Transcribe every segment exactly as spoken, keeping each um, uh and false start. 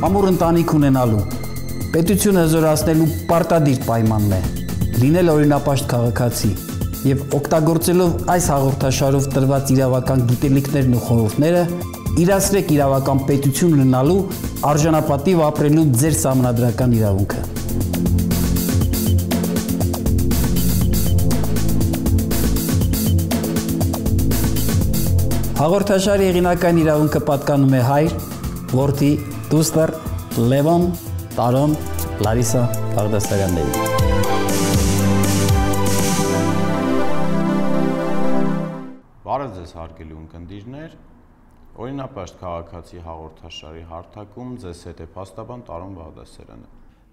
Ամուր ընտանիք ունենալու, պետությունը զորացնելու պարտադիր պայմանն է, լինել օրինապաշտ քաղաքացի և օգտագործելով այս հաղորդաշարով տրված իրավական գիտելիքներն ու խորհուրդները, իրացրեք իրավական պետություն ունենալու արժանապատիվ ապրելու ձեր սահմանադրական իրավունքը։ Հաղորդաշարի հեղինական իրավունքը պատկանում է հայր, որդի, դուստր, Լևոն, Տարոն, Լարիսա Բաղդասարյանների։ Բարև ձեզ հարգելի ունկնդիրներ, օրինապաշտ քաղաքացի հաղորդաշարի հարթակում ձեզ հետ է փաստաբան Տարոն Բաղդասարյանը։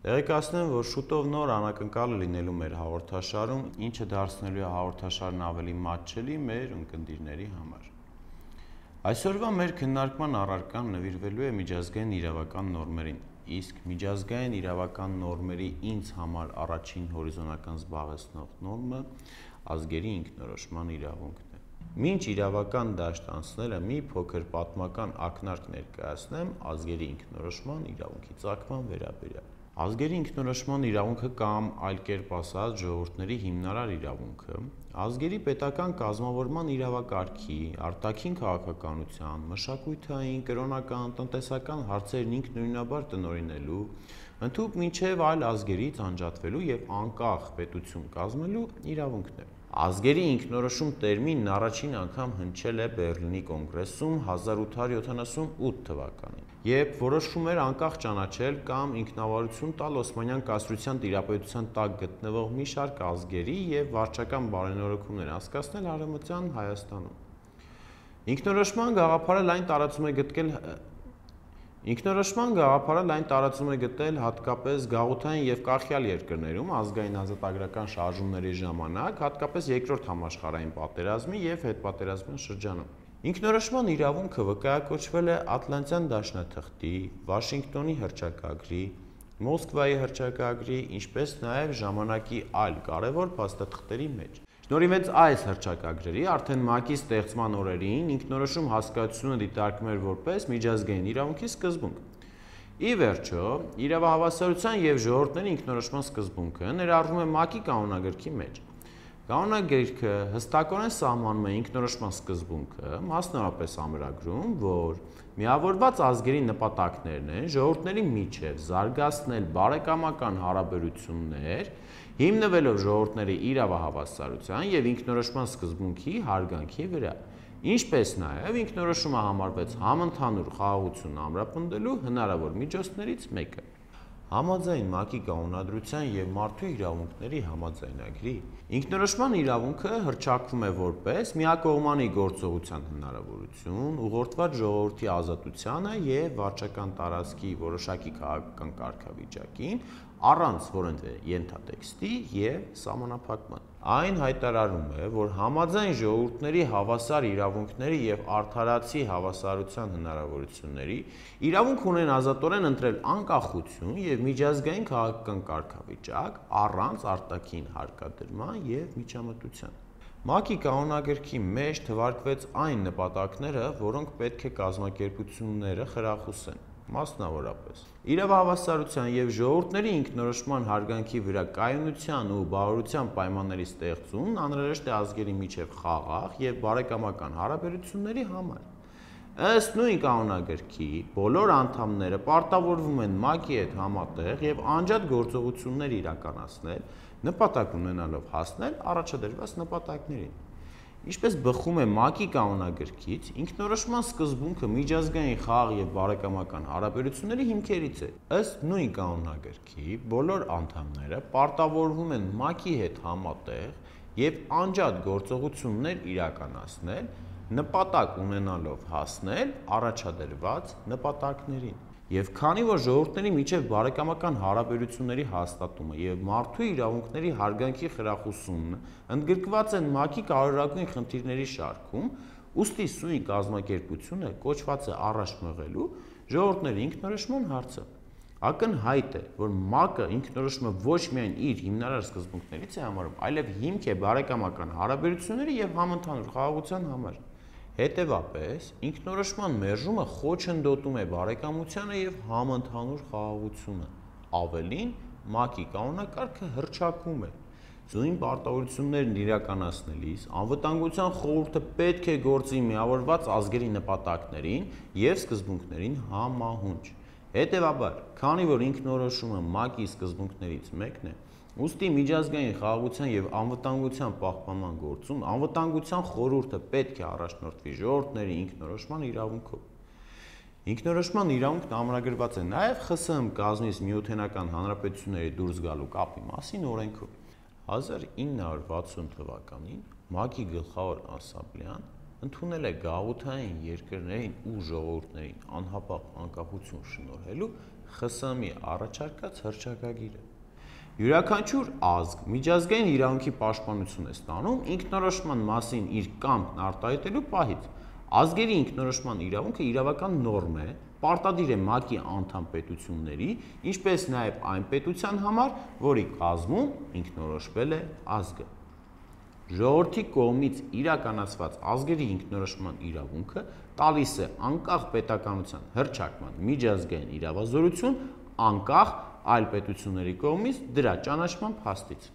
Տեղեկացնեմ, որ շուտով նոր անակնկալ լինելու մեր հաղորդաշարում, ինչը դարձնելու է հաղորդաշարն ավելի մատչելի մեր ունկնդիրների համար։ Այսօրվա մեր քննարկման առարկան նվիրվելու է միջազգային իրավական նորմերին, իսկ միջազգային իրավական նորմերի ինձ համար առաջին հորիզոնական զբաղեցնող նորմը ազգերի ինքնորոշման իրավունքն է։ Մինչ իրավական դաշտ անցնելը մի փոքր պատմական ակնարկ ներկայացնեմ ազգերի ինքնորոշման իրավունքի ծագման վերաբերյալ։ Ազգերի ինքնորոշման իրավունքը կամ այլ կերպ ասած ժողովուրդների հիմնարար իրավունքը ազգերի պետական կազմավորման իրավակարգի, արտաքին քաղաքականության, մշակութային, կրոնական, տնտեսական հարցերն ինքնուրույնաբար տնօրինելու, ընդհուպ մինչև այլ ազգերից անջատվելու եւ անկախ պետություն կազմելու իրավունքն է։ Ազգերի ինքնորոշում տերմինն առաջին անգամ հնչել է Բեռլինի կոնգրեսում հազար ութ հարյուր յոթանասունութ թվականին, երբ որոշվում էր անկախ ճանաչել կամ ինքնավարություն տալ Օսմանյան կայսրության տիրապետության տակ գտնվող մի շարք ազգերի եւ վարչական բարենորոգումներ անցկացնել Արևմտյան Հայաստանում։ Ինքնորոշման գաղափարը լայն տարածում է գտել Ինքնորոշման գաղափարը լայն տարածում է գտել հատկապես գաղութային եւ կախյալ երկրներում ազգային ազատագրական շարժումների ժամանակ, հատկապես երկրորդ համաշխարհային պատերազմի եւ հետպատերազմյան շրջանում։ Ինքնորոշման իրավունքը վկայակոչվել է Ատլանտյան դաշնաթղթի, Վաշինգտոնի հռչակագրի, Մոսկվայի հռչակագրի, ինչպես նաեւ ժամանակի այլ կարևոր փաստաթղթերի մեջ։ Շնորհիվ այս հռչակագրերի արդեն ՄԱԿ-ի ստեղծման օրերին ինքնորոշում հասկացությունը դիտարկվում էր որպես միջազգային իրավունքի սկզբունք։ Ի վերջո, իրավահավասարության եւ ժողովուրդների ինքնորոշման սկզբունքը ներառվում է ՄԱԿ-ի կանոնագրքի մեջ։ Կանոնագիրքը հստակորեն սահմանում է ինքնորոշման սկզբունքը, մասնավորապես ամրագրում, որ միավորված ազգերի նպատակներն են ժողովուրդների միջև զարգացնել բարեկամական հարաբերություններ, հիմնվելով ժողովուրդների իրավահավասարության եւ ինքնորոշման սկզբունքի հարգանքի վրա, ինչպես նաեւ ինքնորոշումը համարվեց համընդհանուր խաղաղություն ամրապնդելու հնարավոր միջոցներից մեկը։ Համաձայն ՄԱԿ-ի կանոնադրության եւ մարդու իրավունքների համաձայնագրի ինքնորոշման իրավունքը հռչակվում է որպես միակողմանի գործողության հնարավորություն, ուղղորդված ժողովրդի ազատությանը եւ վարչական տարածքի որոշակի քաղաքական կարգավիճակին, առանց որևէ ենթատեքստի եւ սահմանափակման։ Այն հայտարարում է, որ համաձայն ժողովուրդների հավասար իրավունքների եւ արդարացի հավասարության հնարավորությունների իրավունք ունեն ազատորեն ընտրել անկախություն եւ միջազգային քաղաքական կարգավիճակ առանց արտաքին հարկադրման եւ միջամտության։ ՄԱԿ-ի կանոնագրքի մեջ թվարկվեց այն նպատակները, որոնք պետք է կազմակերպությունները խրախուսեն, մասնավորապես իրավահավասարության եւ ժողովուրդների ինքնորոշման հարգանքի վրա կայունության ու բարօրության պայմանների ստեղծումն անհրաժեշտ է ազգերի միջև խաղաղ եւ բարեկամական հարաբերությունների համար։ Ըստ նույն կանոնագրքի բոլոր անդամները պարտավորվում են ՄԱԿ-ի հետ համատեղ եւ անջատ գործողություններ իրականացնել, նպատակ ունենալով հասնել առաջադրված նպատակներին։ Ինչպես բխում է ՄԱԿ-ի կանոնագրքից, ինքնորոշման սկզբունքը միջազգային խաղաղ եւ բարեկամական հարաբերությունների հիմքերից է։ Ըստ նույն կանոնագրքի բոլոր անդամները պարտավորվում են ՄԱԿ-ի հետ համատեղ եւ անջատ գործողություններ իրականացնել, նպատակ ունենալով հասնել առաջադրված նպատակներին։ Եվ քանի որ ժողովուրդների միջև բարեկամական հարաբերությունների հաստատումը եւ մարդու իրավունքների հարգանքի խրախուսումն ընդգրկված են ՄԱԿ-ի կարևորագույն խնդիրների շարքում, ուստի սույն կազմակերպությունը կոչված է առաջ մղելու ժողովուրդների ինքնորոշման հարցը։ Ակնհայտ է, որ ՄԱԿ-ը ինքնորոշումը ոչ միայն իր հիմնարար սկզբունքներից է համարում, այլև հիմք է բարեկամական հարաբերությունների եւ համընդհանուր խաղաղության համար։ Հետևաբար, ինքնորոշման մերժումը խոչընդոտում է բարեկամությանը եւ համընդհանուր խաղաղությունը։ Ավելին, ՄԱԿ-ի կանոնակարգը հռչակում է. Զույն պարտավորություններն իրականացնելիս անվտանգության խորհուրդը պետք է գործի միավորված ազգերի նպատակներին եւ սկզբունքներին համահունչ։ Հետևաբար, քանի որ ինքնորոշումը ՄԱԿ-ի սկզբունքներից մեկն է, ուստի միջազգային խաղաղության եւ անվտանգության պահպանման գործում անվտանգության խորհուրդը պետք է առաջնորդվի ժողովուրդների ինքնորոշման իրավունքով։ Ինքնորոշման իրավունքն ամրագրված է նաեւ Խ ՍՀՄ կազմից Միութենական Հանրապետությունների դուրս գալու կապի մասին օրենքով։ հազար ինը հարյուր վաթսուն թվականին ՄԱԿ-ի գլխավոր ասամբլեան ընդունել է գաղութային երկրներին ու ժողովուրդներին անհապաղ անկախություն շնորհելու Խ ՍՀՄ-ի առաջարկած հռչակագիրը։ Յուրաքանչյուր ազգ միջազգային իրավունքի պաշտպանություն է ստանում ինքնորոշման մասին իր կամքն արտահայտելու պահից։ Ազգերի ինքնորոշման իրավունքը իրավական նորմ է, պարտադիր է ՄԱԿ-ի անդամ պետությունների, ինչպես նաև այն պետության համար, որի կազմում ինքնորոշվել է ազգը։ Ժողովրդի կողմից իրականացված ազգերի ինքնորոշման իրավունքը տալիս է անկախ պետականության հռչակման միջազգային իրավազորություն, անկախ այլ պետությունների կողմից դրա ճանաչման փաստից։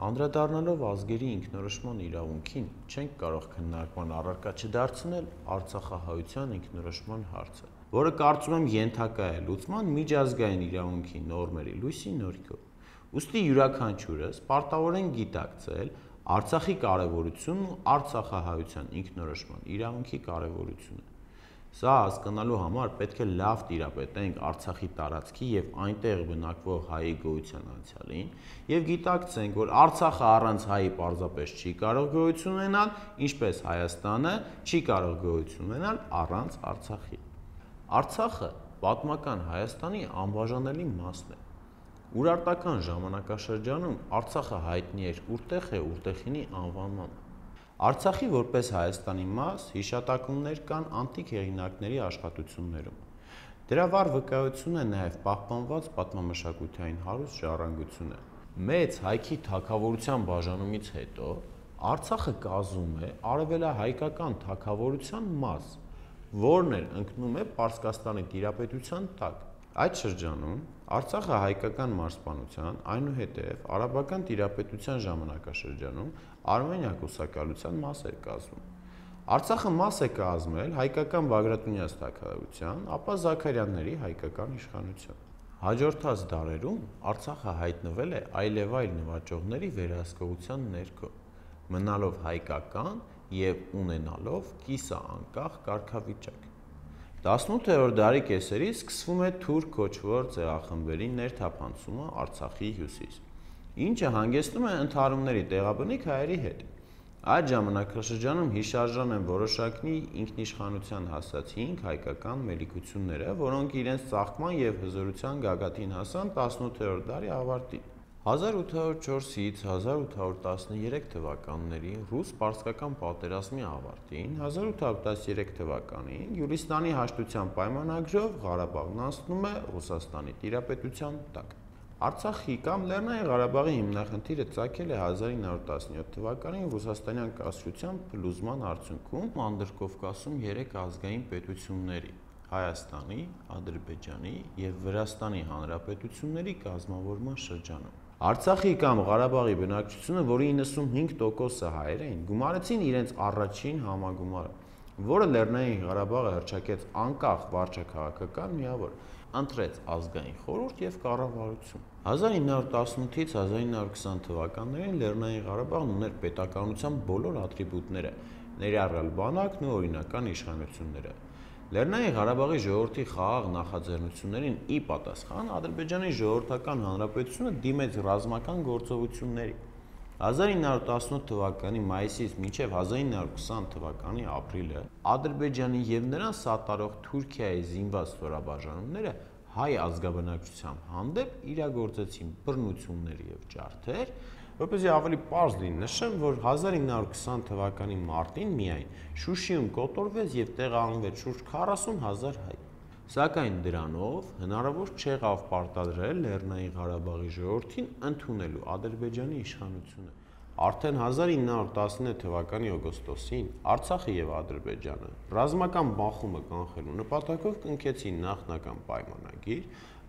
Անդրադառնալով ազգերի ինքնորոշման իրավունքին, չենք կարող քննարկման առարկա չդարձնել Արցախահայության ինքնորոշման հարցը, որը կարծում եմ ենթակա է լուծման միջազգային իրավունքի նորմերի լույսի ներքո։ Ուստի յուրաքանչյուրս պարտավոր են գիտակցել Արցախի կարևորությունն ու Արցախահայության ինքնորոշման իրավունքի կարևորությունը։ Սա հասկանալու համար պետք է լավ տիրապետենք Արցախի տարածքի եւ այնտեղ բնակվող հայի գոյության անցյալին եւ գիտակցենք, որ Արցախը առանց հայի պարզապես չի կարող գոյություն ունենալ, ինչպես Հայաստանը չի կարող գոյություն ունենալ առանց Արցախի։ Արցախը պատմական Հայաստանի անբաժանելի մասն է։ Ուրարտական ժամանակաշրջանում Արցախը հայտնի էր Ուրտեխե Ուրտեխինի անվանմամբ։ Արցախի որպես Հայաստանի մաս հիշատակումներ կան անտիկ հեղինակների աշխատություններում։ Դրա վառ վկայություն է նաև պահպանված պատմամշակութային հարուստ ժառանգությունը։ Մեծ հայքի թագավորության բաժանումից հետո Արցախը կազմում է արևելահայկական թագավորության մաս, որն էլ ընկնում է Պարսկաստանի տիրապետության տակ։ Այդ շրջանում Արցախը հայկական մարզպանության, այնուհետև արաբական տիրապետության ժամանակաշրջանում Արմենիա կուսակալության մաս էր կազմում։ Արցախը մաս է կազմել հայկական Բագրատունյաց թագավորության, ապա Զաքարյանների հայկական իշխանության։ Հաջորդած դարերում Արցախը հայտնվել է այլևայլ նվաճողների վերահսկողության ներքո, մնալով հայկական եւ ունենալով կիսաանկախ կարգավիճակ։ տասնութերորդ դարի կեսերից սկսվում է թուրք կոչվող ցեղախմբերի ներթափանցումը Արցախի հյուսիս, ինչը հանգեցնում է ընդհարումների տեղաբնիկ հայերի հետ։ Այդ ժամանակաշրջանում հիշարժան են որոշակի ինքնիշխանության հասած հինգ հայկական մելիքությունները, որոնք իրենց ծաղկման եւ հզորության գագաթին հասան տասնութերորդ դարի ավարտին։ հազար ութ հարյուր չորսից հազար ութ հարյուր տասներեք թվականների ռուս-պարսկական պատերազմի ավարտին հազար ութ հարյուր տասներեք թվականին Գյուլիստանի հաշտության պայմանագրով Ղարաբաղն անցնում է Ռուսաստանի տիրապետության տակ։ Արցախի կամ Լեռնային Ղարաբաղի հիմնախնդիրը ծագել է հազար ինը հարյուր տասնյոթ թվականին ռուսաստանյան կայսրության փլուզման արդյունքում Անդրկովկասում երեք ազգային պետությունների՝ Հայաստանի, Ադրբեջանի եւ Վրաստանի հանրապետությունների կազմավորման շրջանում։ Արցախի կամ Ղարաբաղի բնակչությունը, որի իննսունհինգ տոկոսը հայեր էին, գումարեցին իրենց առաջին համագումարը, որը Լեռնային Ղարաբաղը հռչակեց անկախ վարչաքաղաքական միավոր, ընտրեց ազգային խորհուրդ եւ կառավարություն։ հազար ինը հարյուր տասնութից հազար ինը հարյուր քսան թվականներին Լեռնային Ղարաբաղն ուներ պետականության բոլոր ատրիբուտները, ներառյալ բանակն ու օրինական իշխանությունները։ Լեռնային Ղարաբաղի ժողովրդի խաղաղ նախաձեռնություններին ի պատասխան Ադրբեջանի ժողովրդական հանրապետությունը դիմեց ռազմական գործողությունների։ հազար ինը հարյուր տասնութ թվականի մայիսից մինչև հազար ինը հարյուր քսան թվականի ապրիլը Ադրբեջանի եւ նրան սատարող Թուրքիայի զինված ստորաբաժանումները հայ ազգաբնակչության հանդեպ իրագործեցին բռնություններ եւ ջարդեր, որպեսզի ավելի պարզ լինի նշեմ, որ հազար ինը հարյուր քսան թվականի մարտին միայն Շուշիում կոտորվեց եւ տեղահանվեց շուրջ քառասուն հազար հայ։ Սակայն դրանով հնարավոր չեղավ պարտադրել Լեռնային Ղարաբաղի ժողովրդին ընդունելու Ադրբեջանի իշխանությունը։ Արդեն հազար ինը հարյուր տասնինը թվականի օգոստոսին Արցախը եւ Ադրբեջանը ռազմական բախումը կանխելու նպատակով կնքեցին նախնական պայմանագիր,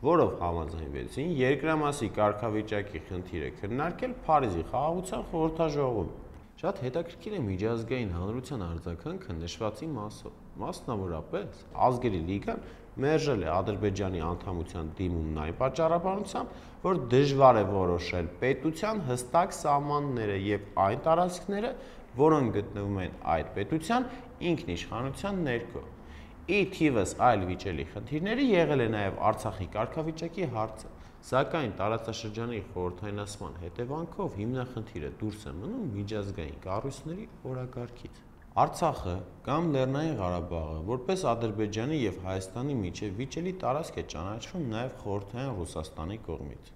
որով համաձայնվեցին երկրամասի կարգավիճակի խնդիրը քննարկել Փարիզի խաղաղության խորհրդաժողովում։ Շատ հետաքրքիր է միջազգային հանրության արձագանքը նշվածի մասով։ Մասնավորապես Ազգերի լիգան մերժել է Ադրբեջանի անդամության դիմումն այն պատճառաբանությամբ, որ դժվար է որոշել պետության հստակ սահմանները եւ այն տարածքները, որոնք գտնվում են այդ պետության ինքնիշխանության ներքո։ Ի թիվս այլ վիճելի խնդիրների եղել է նաեւ Արցախի կարգավիճակի հարցը, սակայն տարածաշրջանի խորհրդայնացման հետևանքով հիմնախնդիրը դուրս է մնում միջազգային կառույցների օրակարգից։ Արցախը կամ Լեռնային Ղարաբաղը որպես Ադրբեջանի եւ Հայաստանի միջև վիճելի տարածք է ճանաչվում նաեւ խորհրդային Ռուսաստանի կողմից։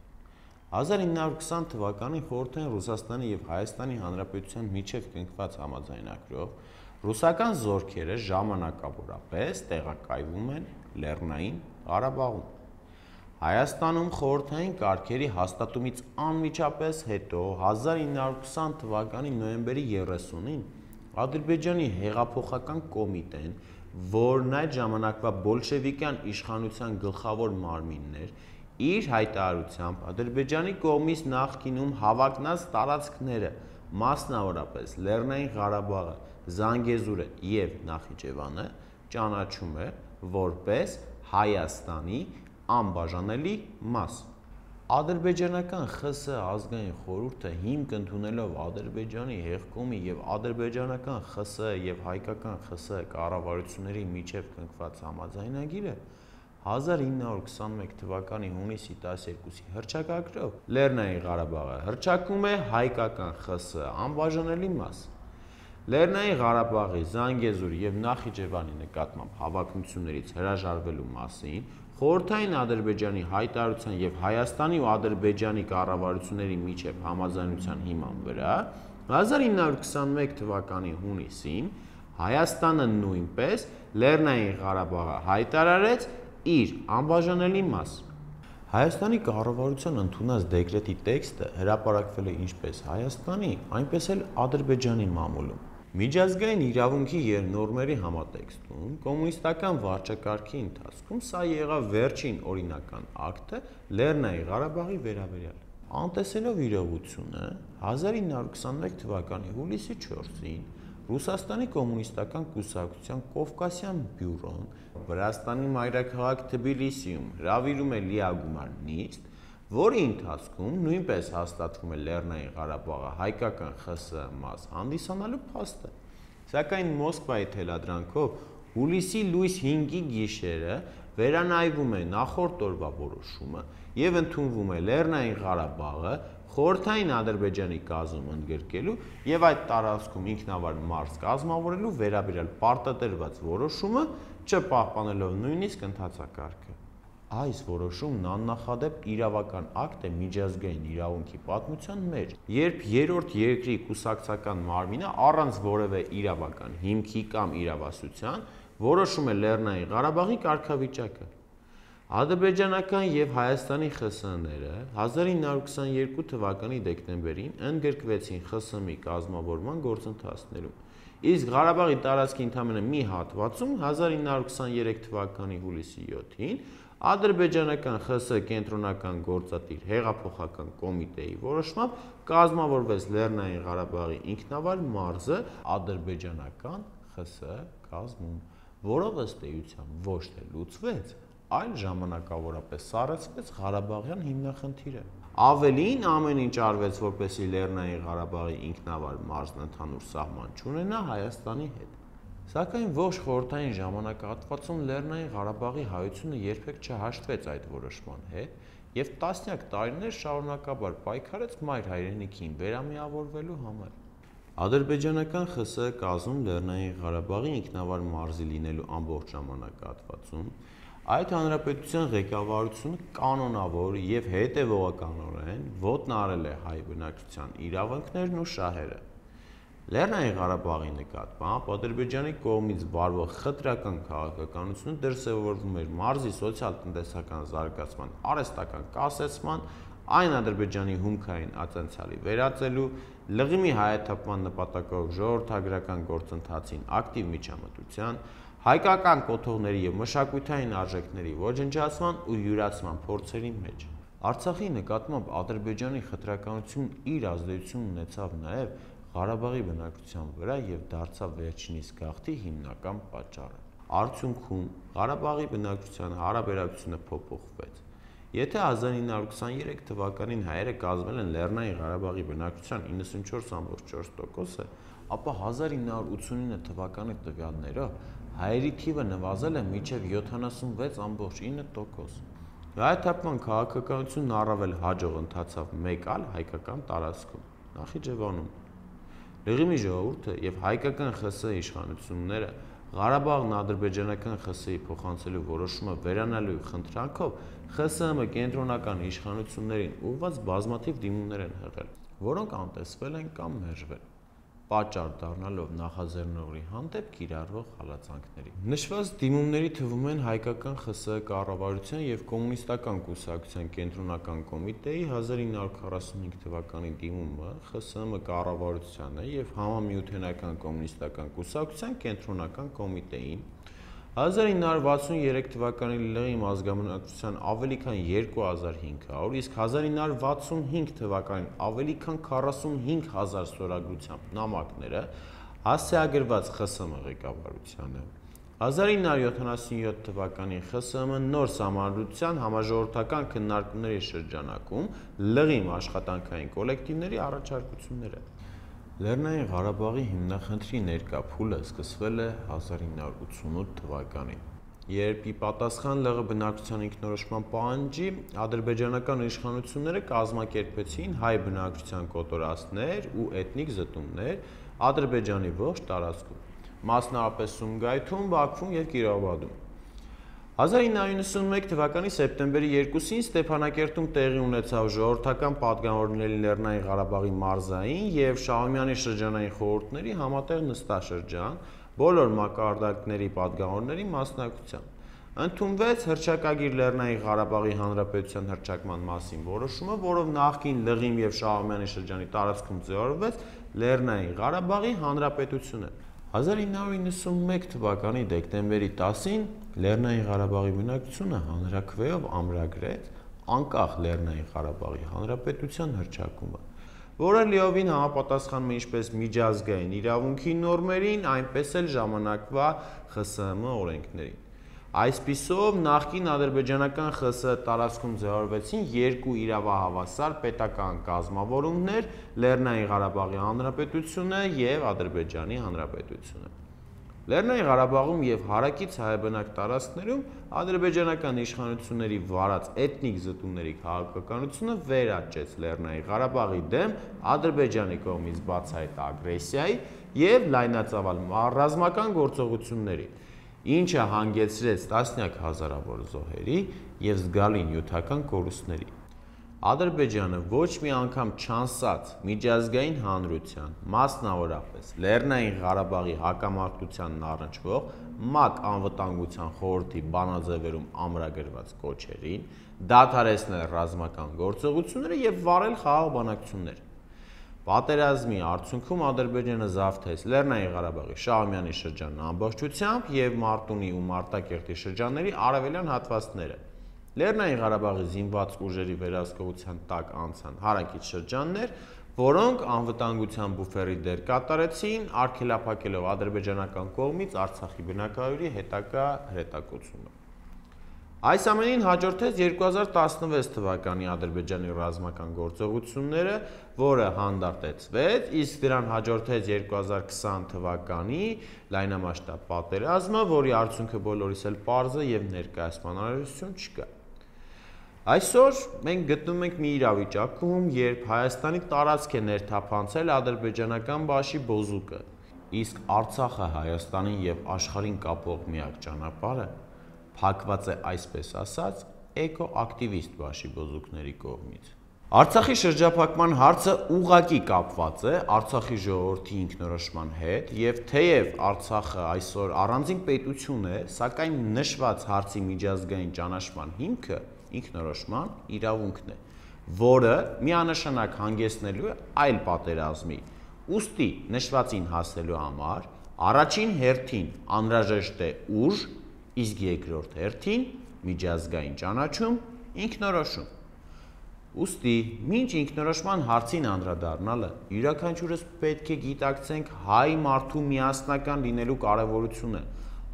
հազար ինը հարյուր քսան թվականին խորհրդային Ռուսաստանի եւ Հայաստանի Հանրապետության միջև կնքված համաձայնագրով ռուսական զորքերը ժամանակավորապես տեղակայվում են Լեռնային Ղարաբաղում։ Հայաստանում խորհրդային կարգերի հաստատումից անմիջապես հետո հազար ինը հարյուր քսան թվականի նոյեմբերի երեսունին Ադրբեջանի հեղափոխական կոմիտեն, որն այդ ժամանակվա բոլշևիկյան իշխանության գլխավոր մարմինն էր, իր հայտարարությամբ Ադրբեջանի կողմից նախկինում հավակնած տարածքները, մասնավորապես Լեռնային Ղարաբաղը, Զանգեզուրը եւ Նախիջևանը ճանաչում է որպես Հայաստանի անբաժանելի մաս։ Ադրբեջանական ԽՍՀ ազգային խորհուրդը հիմք ընդունելով Ադրբեջանի հեղկոմի եւ ադրբեջանական ԽՍՀ եւ հայկական ԽՍՀ կառավարությունների միջև կնքված համաձայնագիրը հազար ինը հարյուր քսանմեկ թվականի հունիսի տասներկուսի հռչակագրով Լեռնային Ղարաբաղը հռչակում է հայկական ԽՍՀ անբաժանելի մաս։ Լեռնային Ղարաբաղի, Զանգեզուրի եւ Նախիջևանի նկատմամբ հավակնություններից հրաժարվելու մասին խորհրդային Ադրբեջանի հայտարարության եւ Հայաստանի ու Ադրբեջանի կառավարությունների միջև համաձայնության հիման վրա հազար ինը հարյուր քսանմեկ թվականի հունիսին Հայաստանը նույնպես Լեռնային Ղարաբաղը հայտարարեց իր անբաժանելի մաս։ Հայաստանի կառավարության ընդունած դեկրետի տեքստը հրապարակվել է ինչպես Հայաստանի, այնպես էլ Ադրբեջանի մամուլում։ Միջազգային իրավունքի եւ նորմերի համատեքստում կոմունիստական վարչակարգի ընթացքում սա եղավ վերջին օրինական ակտը Լեռնային Ղարաբաղի վերաբերյալ։ Անտեսելով իրողությունը հազար ինը հարյուր քսանմեկ թվականի հուլիսի չորսին Ռուսաստանի կոմունիստական կուսակցության Կովկասյան բյուրոն Վրաստանի մայրաքաղաք Թբիլիսիում հրավիրում է լիագումար նիստ, որի ընթացքում նույնպես հաստատվում է Լեռնային Ղարաբաղը հայկական ԽՍՀ մաս հանդիսանալու փաստը։ Սակայն Մոսկվայի թելադրանքով հուլիսի լույս հինգի գիշերը վերանայվում է նախորդ օրվա որոշումը եւ ընդունվում է Լեռնային Ղարաբաղը խորհրդային Ադրբեջանի կազմում ընդգրկելու եւ այդ տարածքում ինքնավար մարզ կազմավորելու վերաբերյալ պարտադրված որոշումը, չպահպանելով նույնիսկ ընթացակարգը։ Այս որոշումն աննախադեպ իրավական ակտ է միջազգային իրավունքի պատմության մեջ, երբ երրորդ երկրի կուսակցական մարմինը առանց որևէ իրավական հիմքի կամ իրավասության որոշում է Լեռնային Ղարաբաղի կարգավիճակը։ Ադրբեջանական եւ Հայաստանի ԽՍՀ-ները հազար ինը հարյուր քսաներկու թվականի դեկտեմբերին ընդգրկվեցին ԽՍՀՄ-ի կազմավորման գործընթացներում, իսկ Ղարաբաղի տարածքի ընդամենը մի հատվածում հազար ինը հարյուր քսաներեք թվականի հուլիսի յոթին ադրբեջանական ԽՍՀ կենտրոնական գործադիր հեղափոխական կոմիտեի որոշմամբ կազմավորվեց Լեռնային Ղարաբաղի ինքնավար մարզը ադրբեջանական ԽՍՀ կազմում, որով ըստ էության ոչ թե լուծվեց, այլ ժամանակավորապես սառեցվեց Ղարաբաղյան հիմնախնդիրը։ Ավելին ամեն ինչ արվեց, որպեսզի Լեռնային Ղարաբաղի ինքնավար մարզն ընդհանուր սահման չունենա Հայաստանի հետ։ Սակայն ոչ խորհրդային ժամանակահատվածում Լեռնային Ղարաբաղի հայությունը երբեք չհաշտվեց այդ որոշման հետ եւ տասնյակ տարիներ շարունակաբար պայքարեց մայր հայրենիքին վերամիավորվելու համար։ Ադրբեջանական ԽՍՀ կազմում Լեռնային Ղարաբաղի ինքնավար մարզի լինելու ամբողջ ժամանակահատվածում այդ հանրապետության ղեկավարությունը կանոնավոր եւ հետեւողականորեն ոտնահարել է հայ բնակչության իրավունքներն ու շահերը։ Լեռնային Ղարաբաղի նկատմամբ Ադրբեջանի կողմից վարվող խտրական քաղաքականությունը դրսևորվում էր մարզի սոցիալ-տնտեսական զարգացման արհեստական կասեցման, այն Ադրբեջանի հումքային ատենցիալի վերածելու, լղիմի հայաթափման նպատակով ժողովրդագրական գործընթացին ակտիվ միջամտության, հայկական կոթողների և մշակութային արժեքների ոչնչացման ու յուրացման փորձերի մեջ։ Արցախի նկատմամբ Ադրբեջանի խտրականությունն իր ազդեցությունն ունեցավ նաև Ղարաբաղի բնակչության վրա և դարձավ վերջինիս գաղթի հիմնական պատճառը։ Արդյունքում Ղարաբաղի բնակչության հարաբերակցությունը փոփոխվեց։ Եթե հազար ինը հարյուր քսաներեք թվականին հայերը կազմել են Լեռնային Ղարաբաղի բնակչության իննսունչորս կόμμα չորս տոկոսը, ապա հազար ինը հարյուր ութսունինը թվականի տվյալներով հայերի թիվը նվազել է մինչև յոթանասունվեց կόμμα ինը տոկոս։ Հայաթափման քաղաքականությունն առավել հաջող ընթացավ մեկ այլ հայկական տարածքում՝ Նախիջևանում։ Լղիմի ժողովուրդը և հայկական ԽՍՀ իշխանությունները Ղարաբաղն ադրբեջանական ԽՍՀ-ի փոխանցելու որոշումը վերանալու խնդրանքով ԽՍՀՄ կենտրոնական իշխանություններին ուղղված բազմաթիվ դիմումներ են եղել, որոնք անտեսվել են կամ մերժվել, պատճառ դառնալով նախաձեռնողի հանդեպ կիրառվող հալածանքների։ Նշված դիմումների թվում են հայկական ԽՍՀ կառավարության և կոմունիստական կուսակցության կենտրոնական կոմիտեի հազար ինը հարյուր քառասունհինգ թվականի դիմումը ԽՍՀՄ կառավարությանը և Համամիութենական կոմունիստական կուսակցության կենտրոնական կոմիտեին, հազար ինը հարյուր վաթսուներեք թվականի լղիմ ազգաբնակչության ավելի քան երկու հազար հինգ հարյուր, իսկ հազար ինը հարյուր վաթսունհինգ թվականին ավելի քան քառասունհինգ հազար ստորագրությամբ նամակները հասցեագրված ԽՍՀՄ ղեկավարությանը, հազար ինը հարյուր յոթանասունյոթ թվականին ԽՍՀՄ նոր սահմանադրության համաժողովրդական քննարկումների շրջանակում լղիմ աշխատանքային կոլեկտիվների առաջարկությունները։ Լեռնային Ղարաբաղի հիմնախնդրի ներկա փուլը սկսվել է հազար ինը հարյուր ութսունութ թվականին, երբ ի պատասխան ԼՂ բնակչության ինքնորոշման պահանջի ադրբեջանական իշխանությունները կազմակերպեցին հայ բնակչության կոտորածներ ու էթնիկ զտումներ Ադրբեջանի ողջ տարածքում, մասնավորապես Սումգայիթում, Բաքվում և Կիրովաբադում։ հազար ինը հարյուր նվաթ թվականի սեպտեմբերի երկուսին Ստեփանակերտում տեղի ունեցավ ժողովրդական պատգամավորների Լեռնային Ղարաբաղի մարզային և Շահումյանի շրջանային խորհուրդների համատեղ նստաշրջան բոլոր մակարդակների պատգամավորների մասնակցությամբ։ Ընդունվեց հռչակագիր Լեռնային Ղարաբաղի Հանրապետության հռչակման մասին որոշումը, որով նախկին Լղիմ և Շահումյանի շրջանի տարածքում ձևավորվեց Լեռնային Ղարաբաղի Հանրապետությունը։ հազար ինը հարյուր նվաթ թվականի դեկտեմբերի տասին Լեռնային Ղարաբաղի բնակչությունը հանրաքվեով ամրագրեց անկախ Լեռնային Ղարաբաղի Հանրապետության հռչակումը, որը լիովին համապատասխանում է ինչպես միջազգային իրավունքի նորմերին, այնպես էլ ժամանակվա ԽՍՀՄ օրենքներին։ Այսպիսով, նախկին ադրբեջանական ԽՍՀ տարածքում ձևավորվեցին երկու իրավահավասար պետական կազմավորումներ՝ Լեռնային Ղարաբաղի Հանրապետությունը և Ադրբեջանի Հանրապետությունը։ Լեռնային Ղարաբաղում և հարակից հայաբնակ տարածքներում ադրբեջանական իշխանությունների վարած էթնիկ զտումների քաղաքականությունը վերաճեց Լեռնային Ղարաբաղի դեմ Ադրբեջանի կողմից բացահայտ ագրեսիայի և լայնածավալ ռազմական գործողությունների, ինչը հանգեցրեց տասնյակ հազարավոր զոհերի և զգալի նյութական կորուստների։ Ադրբեջանը ոչ մի անգամ չանսաց միջազգային հանրության, մասնավորապես Լեռնային Ղարաբաղի հակամարտությանն առնչվող ՄԱԿ Անվտանգության խորհրդի բանաձևերում ամրագրված կոչերին, դադարեցնել ռազմական գործողությունները և վարել խաղաղ բանակցություններ։ Պատերազմի արդյունքում Ադրբեջանը զավթեց Լեռնային Ղարաբաղի Շահումյանի շրջանն ամբողջությամբ և Մարտունի ու Մարտակերտի շրջանների արևելյան հատվածները։ Լեռնային Ղարաբաղի զինված ուժերի վերահսկողության տակ անցան հարակից շրջաններ, որոնք անվտանգության բուֆերի դեր կատարեցին, արգելափակելով ադրբեջանական կողմից Արցախի բնակարարի հետագա հրետակոծումը։ Այս ամենին հաջորդեց երկու հազար տասնվեց թվականի Ադրբեջանի ռազմական գործողությունները, որը հանդարտեցվեց, իսկ դրան հաջորդեց երկու հազար քսան թվականի լայնամասշտաբ պատերազմը, որի արդյունքը բոլորիս էլ պարզ է և ներկայացման անհրաժեշտություն չկա։ Այսօր մենք գտնվում ենք մի իրավիճակում, երբ Հայաստանի տարածք է ներթափանցել ադրբեջանական բաշի բոզուկը, իսկ Արցախը Հայաստանին և աշխարհին կապող միակ ճանապարհը փակված է այսպես ասած էկոակտիվիստ բաշի բոզուկների կողմից։ Արցախի շրջափակման հարցը ուղղակի կապված է Արցախի ժողովրդի ինքնորոշման հետ և թեև Արցախը այսօր առանձին պետություն է, սակայն նշված հարցի միջազգային ճանաչման հիմքը ինքնորոշման իրավունքն է, որը միանշանակ հանգեցնելու է այլ պատերազմի։ Ուստի նշվածին հասնելու համար առաջին հերթին անհրաժեշտ է ուժ, իսկ երկրորդ հերթին միջազգային ճանաչում, ինքնորոշում։ Ուստի մինչ ինքնորոշման հարցին անդրադառնալը յուրաքանչյուրս պետք է գիտակցենք հայ մարդու միասնական լինելու կարևորությունը,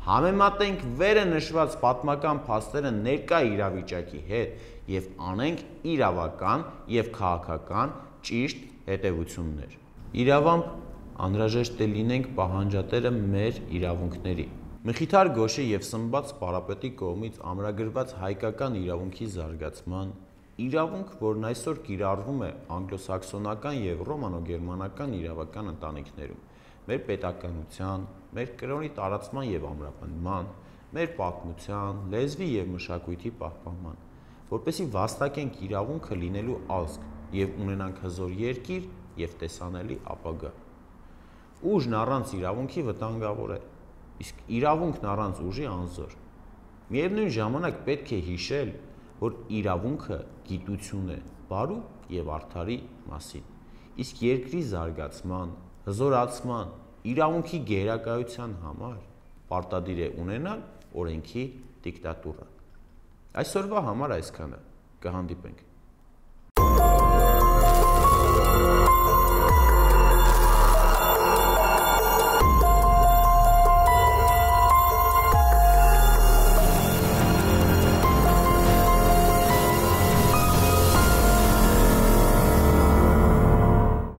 համեմատենք վերը նշված պատմական փաստերը ներկա իրավիճակի հետ եւ անենք իրավական եւ քաղաքական ճիշտ հետևություններ։ Իրավամբ անհրաժեշտ է լինենք պահանջատերը մեր իրավունքների։ Մխիթար Գոշի եւ Սմբաց Պարապետի կողմից ամրագրված հայկական իրավունքի զարգացման իրավունք, որն այսօր կիրառվում է անգլոսաքսոնական եւ ռոմանո-գերմանական իրավական ընտանիքներում, մեր պետականության, մեր կրոնի տարածման եւ ամրապնդման, մեր պատմության, լեզվի եւ մշակույթի պահպանման, որպեսզի վաստակենք իրավունքը լինելու ազգ եւ ունենանք հզոր երկիր եւ տեսանելի ապագա։ Ուժն առանց իրավունքի վտանգավոր է, իսկ իրավունքն առանց ուժի անզոր։ Միևնույն ժամանակ պետք է հիշել, որ իրավունքը գիտություն է բարու եւ արդարի մասին, իսկ երկրի զարգացման, հզորացման, իրավունքի գերակայության համար պարտադիր է ունենալ օրենքի դիկտատուրա։ Այսօրվա համար այսքանը, կհանդիպենք։